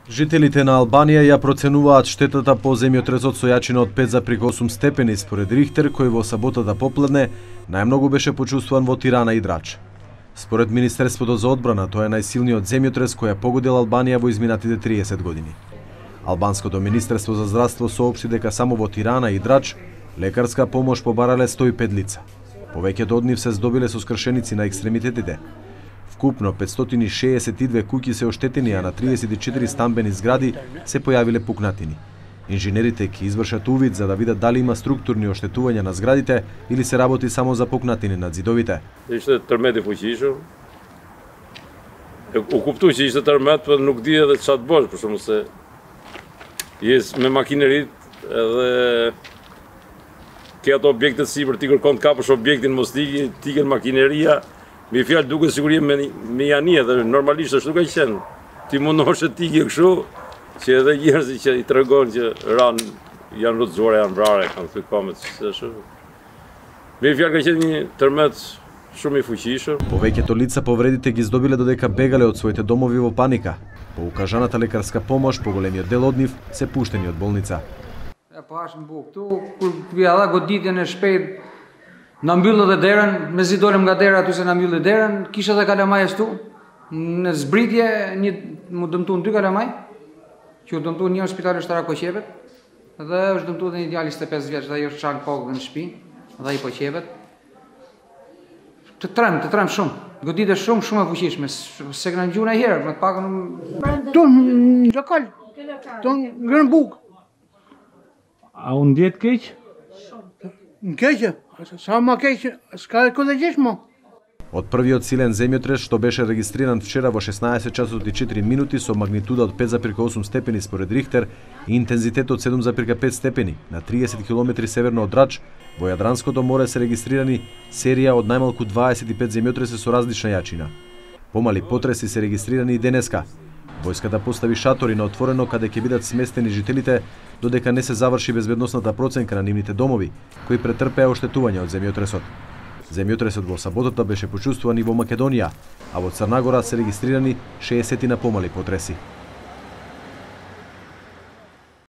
Жителите на Албанија ја проценуваат штетата по земјотресот со јачина од 5,8 степени според Рихтер, кој во саботата попладне најмногу беше почувствуван во Тирана и Драч. Според Министерството за одбрана, тоа е најсилниот земјотрес кој ја погодил Албанија во изминатите 30 години. Албанското Министерство за здравство соопшти дека само во Тирана и Драч лекарска помош побарале 105 лица. Повеќето од нив се здобиле со скршеници на екстремитетите. Вкупно 562 куќи се оштетени, а на 34 стамбени згради се појавиле пукнатини. Инженерите ќе извршат увид за да видат дали има структурни оштетувања на зградите или се работи само за пукнатини на зидовите. Ishte tërmet I fuqishëm. U kuptu që ishte tërmet, por nuk di edhe çfarë të bësh, për shkak se jes me makinerit edhe ke ato objekte sipër ti kërkon të kapësh objektin mos tiken makineria. Mi fjalë duket sigurie me janie dhe normalisht ashtu ka qenë. Ti mundohesh të tikje kështu që edhe njerëzit që I tregon që janë rrotzuar, janë vrarë, kanë thënë komet ashtu. Me fjalë ka qenë një tërmet shumë I fuqishëm. Повеќето лица повредите ги здобиле додека бегале од своите домови во паника. По укажаната лекарска помош, поголемиот дел од нив се пуштени од болница. Po hashim buk këtu, kur vija dha goditjen e shpejt, na mbyllë dhe derën, me zidolem nga dera aty se na mbyllë derën, kisha dhe kalamajës tu, në zbritje mu dëmtu në 2 kalamaj, që u dëmtu një në spitali Shtara Koqepet, dhe është dëmtu dhe një djali 25 vjeç, dhe ajo është qanë kokë në shtëpi, dhe I po qepet. Të trem shumë, goditje shumë e fuqishme, se këna gjuna herë, me të pakën Tu në lokal, tu në bukë. A unë ndjetë keq? Në keqë, sa ma keqë, s'ka e kodegjesh mo. Од првиот силен земјотрес што беше регистриран вчера во 16 часот и 4 минути со магнитуда од 5,8 степени според Рихтер и интензитет од 7,5 степени на 30 км северно од Драч, во Јадранското море се регистрирани серија од најмалку 25 земјотреси со различна јачина. Помали потреси се регистрирани и денеска. Војската постави шатори на отворено каде ќе бидат сместени жителите додека не се заврши безбедносната проценка на нивните домови, кои претрпеа оштетување од земјотресот. Земјотресот во саботата беше почувствуван и во Македонија, а во Црна Гора се регистрирани 60 помали потреси.